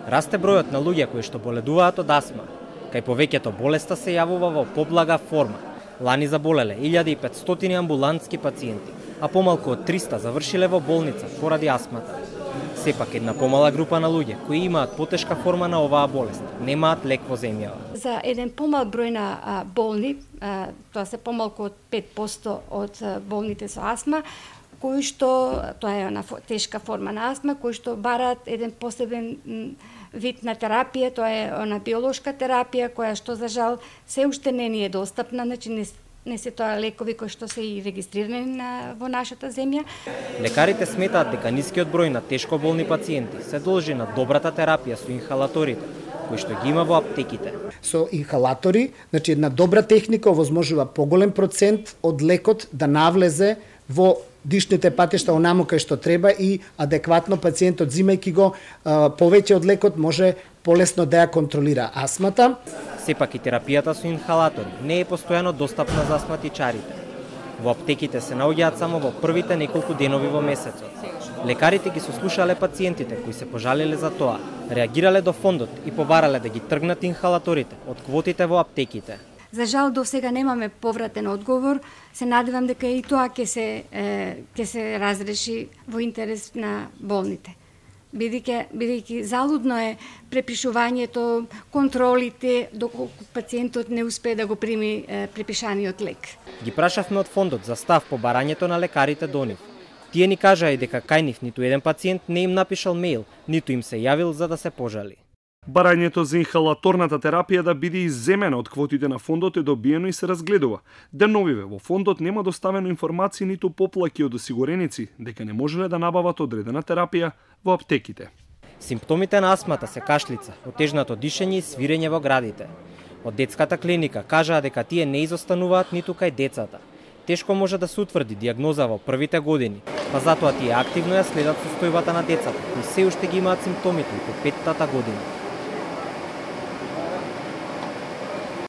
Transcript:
Расте бројот на луѓе кои што боледуваат од астма. Кај повеќето болеста се јавува во поблага форма. Лани заболеле 1500 амбулантски пациенти, а помалку од 300 завршиле во болница поради астмата. Сепак една помала група на луѓе кои имаат потешка форма на оваа болест немаат лек во земјава. За еден помал број на болни, тоа се помалку од 5% од болните со астма, кои што тоа е она тешка форма на астма, кои што бараат еден посебен вид на терапија, тоа е она биолошка терапија која што за жал се уште не ни е достапна, значи не се тоа лекови кои што се и регистрирани во нашата земја. Лекарите сметаат дека нискиот број на тешко болни пациенти се должи на добрата терапија со инхалаторите, кои што ги има во аптеките. Со инхалатори, значи една добра техника овозможува поголем процент од лекот да навлезе во дишните патишта онаму кај што треба и адекватно пациентот, земајќи го повеќе од лекот, може полесно да ја контролира астмата. Сепак и терапијата со инхалатори не е постојано достапна за астматичарите. Во аптеките се наоѓаат само во првите неколку денови во месецот. Лекарите ги сослушале пациентите кои се пожалиле за тоа, реагирале до фондот и побарале да ги тргнат инхалаторите од квотите во аптеките. За жал до сега немаме повратен одговор. Се надевам дека и тоа ќе се разреши во интерес на болните. Бидејќи залудно е препишувањето, контролите доколку пациентот не успее да го прими препишаниот лек. Ги прашавме од фондот за став по барањето на лекарите до нив. Тие ни кажаа и дека кај нив ниту еден пациент не им напишал мејл, ниту им се јавил за да се пожали. Барањето за инхалаторната терапија да биде изземена од квотите на фондот е добиено и се разгледува. Деновиве во фондот нема доставено информации ниту поплаки од осигуреници дека не можеле да набават одредена терапија во аптеките. Симптомите на астмата се кашлица, отежнато дишење и свирење во градите. Од детската клиника кажаа дека тие не изостануваат ниту кај децата. Тешко може да се утврди диагноза во првите години, па затоа тие активно ја следат состојбата на децата, кои се уште ги имаат симптомите и по 5-тата година.